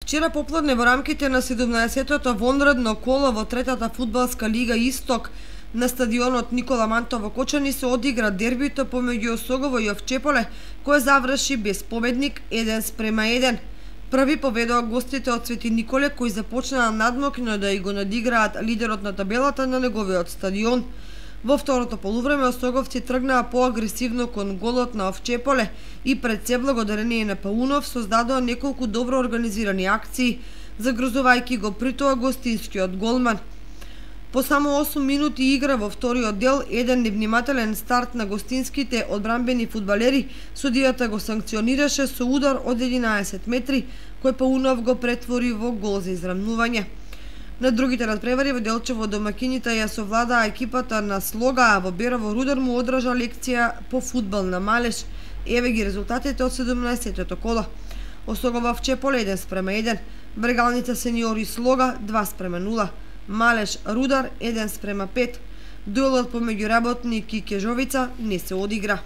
Вчера попладне во рамките на 17-тото вонредно коло во третата фудбалска лига Исток на стадионот Никола Мантов во Кочани се одигра дербито помеѓу Осогово и Овчеполе, кое заврши без победник 1:1. Први победоа гостите од Свети Николе, кои започнаа надмокно да и го надиграат лидерот на табелата на неговиот стадион. Во второто полувреме осоговци тргнаа поагресивно кон голот на Овчеполе и пред се благодарение на Паунов создадоа неколку добро организирани акции, загрозувајќи го притоа гостинскиот голман. По само 8 минути игра во вториот дел, еден невнимателен старт на гостинските одбранбени фудбалери, судијата го санкционираше со удар од 11 метри, кој Паунов го претвори во гол за израмнување. На другите надпревари во Делчево домакините ја совладаа екипата на Слога, а во Берово Рудар му одржа лекција по фудбал на Малеш. Еве ги резултатите од 17-тото коло. Осогово Овчеполе 1:1, Брегалница сениори Слога 2:0, Малеш Рудар 1:5. Дуелот помеѓу Работник и Кежовица не се одигра.